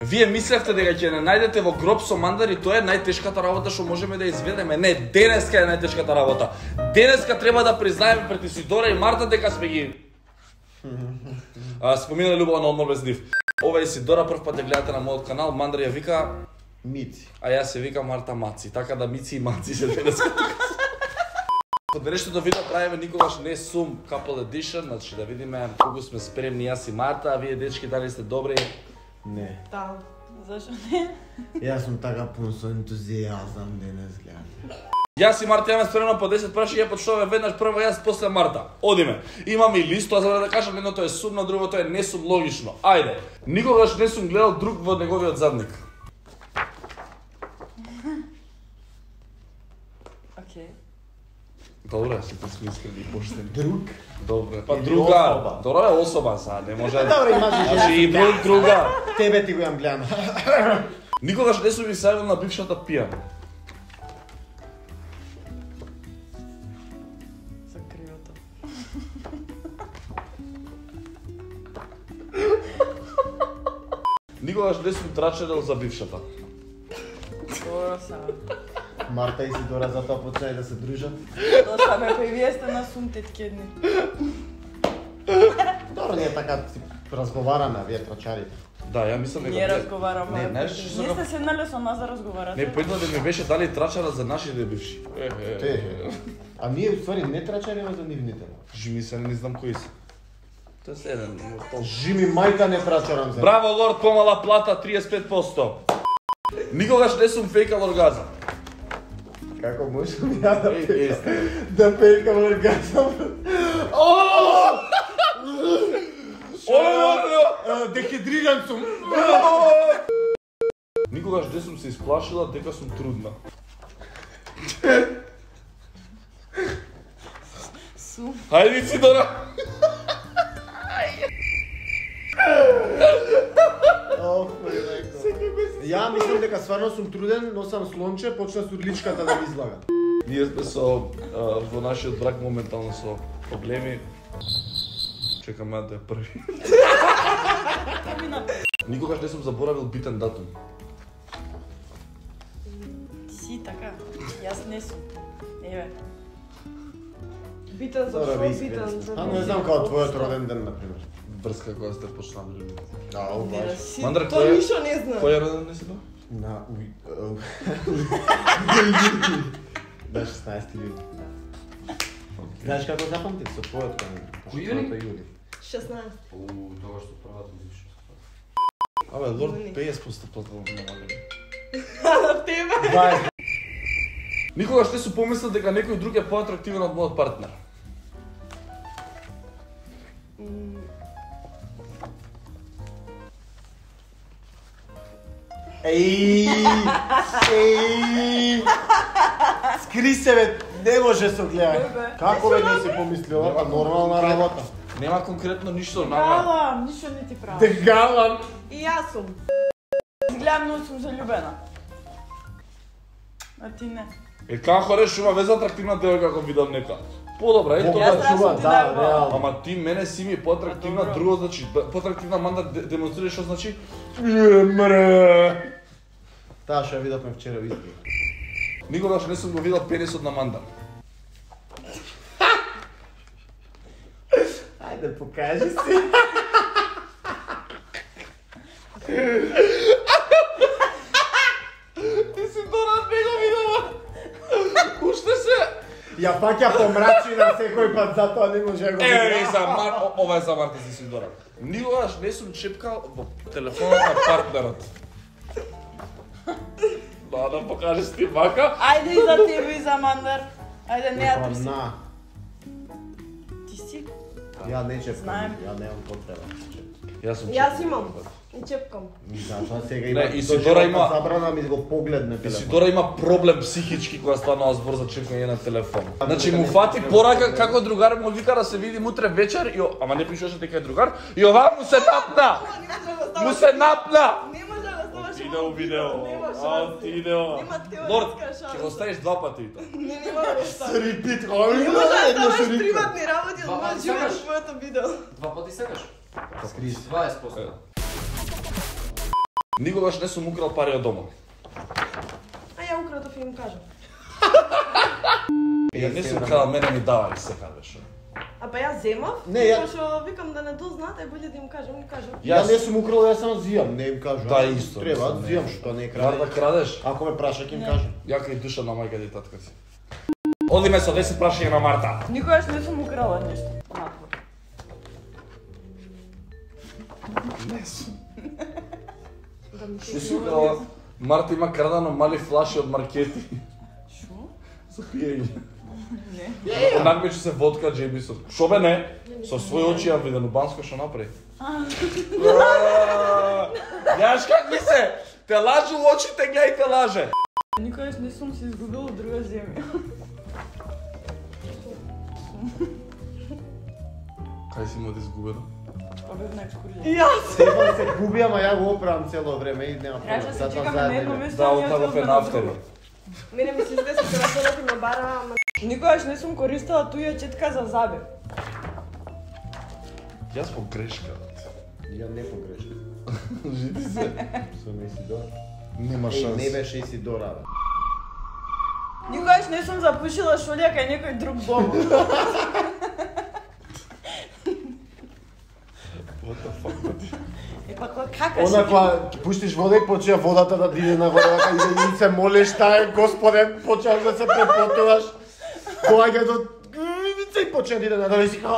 Вие мислевте дека ќе не најдете во гроб со мандари, тоа е најтешката работа што можеме да изведеме. Не, денеска е најтешката работа. Денеска треба да признаеме пред Исидора и Марта дека сме ги споминали љубов на одмор без нив. Ова е Исидора, прв пат ја гледате на мојот канал, Мандар ја вика Мици. А јас се вика Марта Маци, така да Мици и Маци се денеска тука. Од денешното видео правиме никогаш не сум couple edition, значи да видиме колку сме спремни јас и Марта, а вие дечки дали сте добри? Не. Да, зашо не? Јас сум така пун со ентузијазам денес, гледам. Јас и Марта имаме спремно по 10 прашања, почнуваме веднаш прво јас, после Марта. Одиме. Имаме и лист, тоа за да кажам, едното е сумно, другото е не сум логично. Ајде. Никогаш не сум гледал друг во неговиот задник. Окей. Добре, сите сме искрени и поштени. Друг? Добре. Па Или друга. особа. Добре, особа са, не може. Добре, имаш и Значи и друга. Тебе ти го имам гледано. Никогаш не сум ви сајавил на бившата пијана. За кривото. Никогаш не сум трачерел за бившата. Добро са. Марта и Исидора затоа почнаа да се дружат. Доста ме, па и вие сте на сум теткедни. Добро, ние така си разговараме, вие трачарите. Да, ја мислам дека Ние разговараме. Не, знаеш што Не сум- сте седнале со нас да разговарате? Не, поедно да ми беше дали трачара за нашите бивши. А ние уствари не трачариме за нивните. Жими се, не знам кои се. Тоа е еден. Жими мајка не трачарам за. Браво, лорд, помала плата 35%. Никогаш не сум фейкал оргазам. Како можам ја да Е, да пејкам оргазам? Дехидриран сум. Никогаш не сум се исплашила дека сум трудна. Сум. Хајде си Дора. Ја мислам дека стварно сум труден, носам слонче, почна сурличката да ми излага. Ние сме со во нашиот брак моментално со проблеми. Чекаме да е први. Никогаш не сум заборавил битен датум. Ти си така. Јас не сум. Еве. Битен за Добро, шо, би битен искрен. за... А не знам како твојот роден ден, например. Врска која сте почнали. Да, Не обаш. да си. Мандар, Тоа ништо не знам. кој е роден ден си тоа? На на 16 јули. Знаеш како запамтив со твојот ден? Кој јули? Јули. 16. Тоа што првата бивша. Абе, лорд Јуни. 50% платил намалени. На тебе? 20. Никогаш не сум помислил дека некој друг е поатрактивен од мојот партнер. Еј! Скри се бе, не може со гледање. Бе. Како бе не си помислила? Па нормална работа. Нема конкретно ништо нама. Галам, ништо не ти правам. Дегалам. И јас сум. Изгледам, но сум заљубена. А ти не. Е како решува вез атрактивна девојка ако видам нека. Подобра, ето Јас да. треба сум ти дајам. реално. Ама ти мене си ми поатрактивна, Добро. друго значи поатрактивна Манда демонстрира што значи мре. Таа што ја видовме вчера во избор. Никогаш не сум го видел пенисот на Манда. Ајде, покажи си. Ти си Дора не го видела. Уште се. Ја фаќа помрачина секој пат, затоа не може да го Е, за ова е за Марта си Дора. Никогаш не сум чепкал во телефонот на партнерот. Да покажеш ти мака. Ајде и за тебе и за Мандар. Ајде, не ја Па, трси. на. Ти си? Ја не чепкам, Знаем. ја немам потреба. Јас сум Јас чепкал. имам. И чепкам. Затоа сега Не, има Исидора има- забрана ми го погледне телефон. Исидора има проблем психички кога станува збор за чекање на телефон. Значи му фати порака како другар му вика да се видим утре вечер и ама не пишеше дека е другар и ова му се напна. Му се напна. Не може да ставаш. Иде у видео. Не може. А ти иде. Нема теоретска Лорд, шанса. ќе го ставиш два пати и тоа. Не, нема да ставаш. Репит, Не може да ставаш репит. приватни работи од Два мојот пати живот сакаш? од твоето видео. Два пати сакаш? Скрис. 20%. Никогаш не сум украл пари од дома. А ја укратов и им кажам. Ја не сум крал, мене ми давали сега беше. А па јас земав, Не, ја- пошто викам да не дознаат, е боле да им кажам, им кажам. Ја не сум украл, јас само зијам, не им кажам. Да, исто, Треба, мислам, не. зијам што не Мар да краде. крадеш? Ако ме праша, ќе им кажам. Ја кај душа на мајка и татка си. Одиме со 10 прашања на Марта. Никогаш не сум украла нешто. Надвор. Не сум. Да ми Што си украла? Марта има крадано мали флаши од маркети. Шо? За пиење. Не. Надмече се водка Джеймисон. Шо бе не? Со своји очи ја виден у Банско што направи. Јаш как ми се? Те лажу у очите, гледај те лаже. Никогаш не сум се изгубила од друга земја. Кај си му да изгубено? Побев на екскурзија. Јас! Стефан се губи, ама ја го оправам цело време и нема Трябваше да се Затоа чекаме на едно заедно. место. Да, а ние оттако отидовме е на нафтери. друго. Мене ми се изгледа дека телефонот им ме бара, ама Никогаш не сум користела туја четка за забе. Јас по грешка. Ја не погрешив. Жити се. Сум Исидор. Нема шанс. Не беше Исидора, бе. Никогаш не сум запушила шолја кај некој друг дом. What the fuck, бати? Е па кака Она кога ќе пуштиш вода и почува водата да диде нагоре, вака и се молиш, тај Господен, почнаш да се препотуваш. Доаѓа до и почне да иде надолу и си као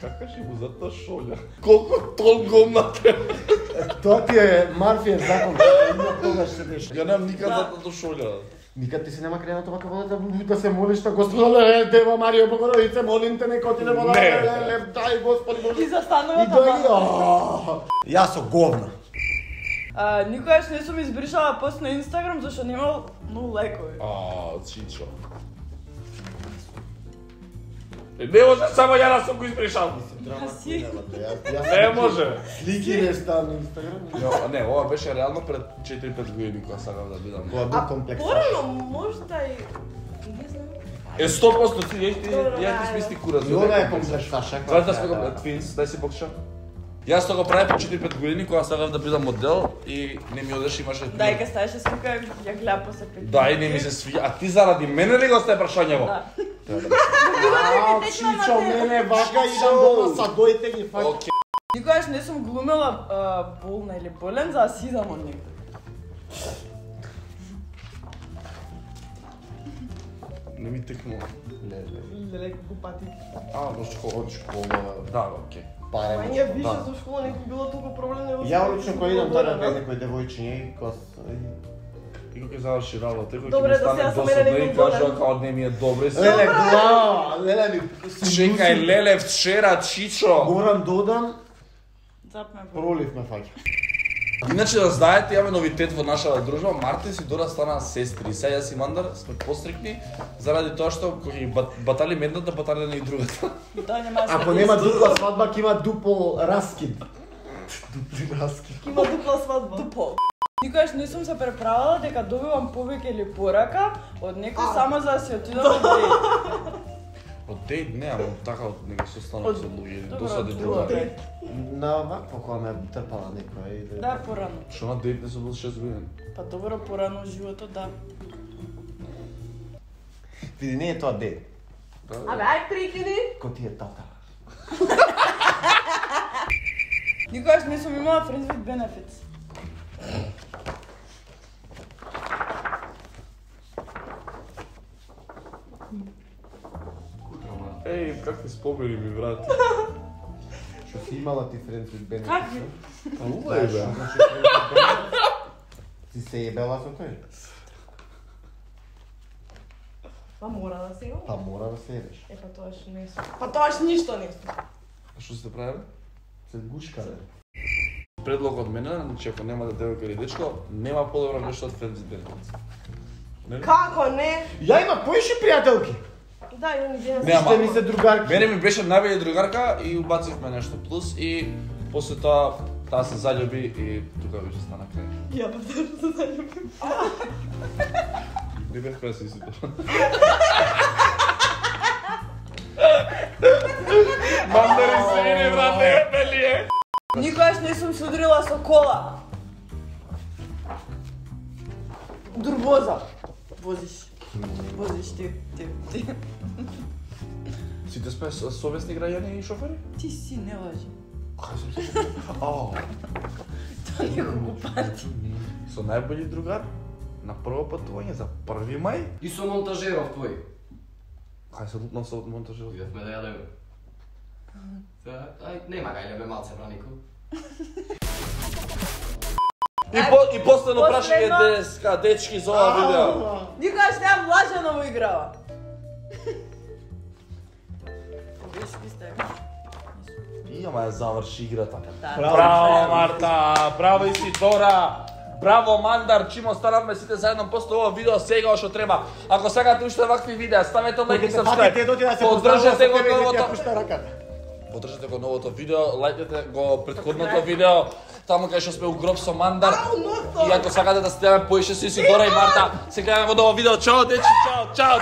Кака ще му за та шолја? Колку толком треба? Тоа ти е Марфиев закон, има тогаш се деша. Ја немам никад за та шолја. Никад ти се нема кренато вака вода да се молиш на Господа, Дева Марија Богородице, молим те нека отиде вода, Не. дај Господи Боже. И застанува И таму. доаѓа. Јас со говна. Никогаш не сум избришала пост на Инстаграм зашто немал многу лајкови. Чичо. Не може само ја да сум го избришал. си. Не може. Слики не стан на Инстаграм. Ја, не, ова беше реално пред 4-5 години кога сакав да бидам. Кога бил комплексаш. порано можда и не знам. Е 100% ти Добро, ја да, ти смисли кура. И она е комплексаш. Знаеш да сме твинс, дај си бокша. Јас тоа го правев по 4-5 години кога сакав да бидам модел и не ми одеше имаше. Дај га ставеше слика, ја гледа после 5. Да, и не ми се свиѓа. А ти заради мене ли го сте прашањево? Да. Чичо, мене вака идам дома са дојте ги фаќа. Океј. Никогаш не сум глумела болна или болен за да си идам од некој. Не ми текнува. Леле, купати. Во школа. Од школа, Да, океј. паре. Ама ние више Да. со школа не би било толку проблем него. Ја лично кој идам тара кај некој девојчиња и кога И кога ќе заврши работа, кога ќе Добре, ми да стане сега со мене досадно не и ми кажа болен. како не ми е добро и се. Леле, глава, леле ми. Чекај, леле, вчера, Чичо. Морам додам, Запме. пролив ме фаќа. Иначе да знаете, имаме новитет во нашата дружба. Марта и Сидора стана сестри. Сега јас и Мандар сме пострикни заради тоа што кога ги батали едната, батали и другата. Да, нема да се Ако деси. нема дупла свадба, ќе има дупол раскид. Дупли раскид. Има дупла свадба. Дупол. Никогаш не сум се преправила дека добивам повеќе или порака од некој само за да си отидам од дејт. Од дејт не, ама така од него состанок со луѓе, Добро, досади од другари. дејт. На вакво кога ме трпала некоја или... Да, порано. Што на дејт не сум бил 6 години? Па добро порано во животот, да. Види, не е тоа дед. Абе, ај прикини. Кој ти е тата? Никогаш не сум имала friends with benefits. Еј, какви спомени ми врати. Што си имала ти friends with benefits? Какви? А ула е бе. Ти се ебела со тој? Па мора да се има. Па мора да се ебеш. Е, па тоаш не сум. Па тоаш ништо не сум. А што сте правили? Се гушка, бе. Предлог од мене, значи ако немате девојка или дечко, нема подобро нешто од friends with benefits. Нели? Како не? Ја има поише пријателки. Да, имам идеја. Не, ама- Ще ми се другарки. Мене ми беше најбелја другарка и убацивме нешто плюс и после тоа таа се заљуби и тука веќе стана крај. Ја па тоа се заљубим. Не бев преси си тоа. Мандари свини, брате, белие. Никогаш не сум се удрила со кола. Дурвоза. Возиш ти. Сите сме совесни граѓани и шофери? Ти си, не лажи. Кај сум се? Ау. Тоа неколку пати. Со најбољи другар на прво патување за 1 мај. И со монтажеров твој. Кај се лутнав со монтажерот? Идевме да јадеме. Ај, нема га јадеме малце бранико. И последно прашање деска, дечки за ова видео. Никогаш немам лажано играва. Погрешки сте. Ама ја заврши играта. Да. Браво Марта, браво Исидора. Браво Мандар, чим останавме сите заедно после ова видео сега што треба. Ако сакате уште вакви видеа, ставете лайк и сабскрајб. Поддржете го новото. Поддржете го новото видео, лајкнете го претходното видео. Таму кај што сме у гроб со Мандар. И ако сакате да следаме поише со Исидора и Марта, се гледаме во ново видео. Чао дечи, чао.